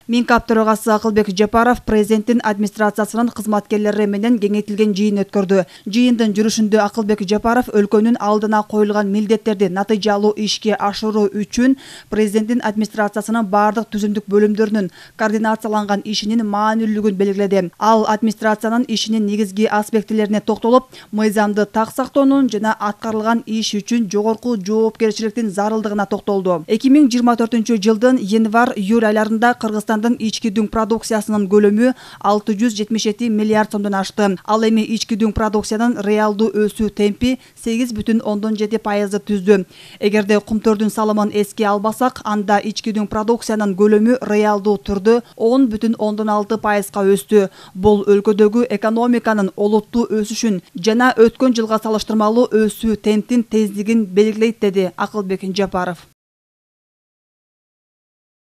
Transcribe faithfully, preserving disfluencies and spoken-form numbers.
Минкап төрагасы Акылбек Жапаров президенттин администрациясынын кызматкерлери менен кеңейтилген жыйын өткөрдү. Жыйындын жүрүшүндө Акылбек Жапаров өлкөнүн алдына коюлган милдеттерди натыйжалуу ишке ашыруу үчүн президенттин администрациясынын бардык түзүмдүк бөлүмдөрүнүн координацияланган ишинин маанилүүлүгүн белгиледи. Ал администрациянын ишинин негизги аспектилерине токтолуп, мыйзамды так сактоонун жана аткарылган иш үчүн жогорку жоопкерчиликтин зарылдыгына токтолду. эки миң жыйырма төртүнчү жылдын январь-июль айларында Кыргызстан ички дүң продукциясынын көлөмү алты жүз жетимиш жети миллиард сомдон ашты. Ал эми ички дүң продукциянын реалдуу өсүү темпи сегиз бүтүн ондон жети пайызды түздү. Эгерде кумтөрдүн салымын эске албасак, анда ички дүң продукциянын көлөмү реалдуу түрдө он бүтүн ондон алты пайызга өстү. Бул өлкөдөгү экономиканын олуттуу өсүшүн жана өткөн жылга салыштырмалуу өсүү темптин тездигин белгилейт, деди Акылбек Жапаров.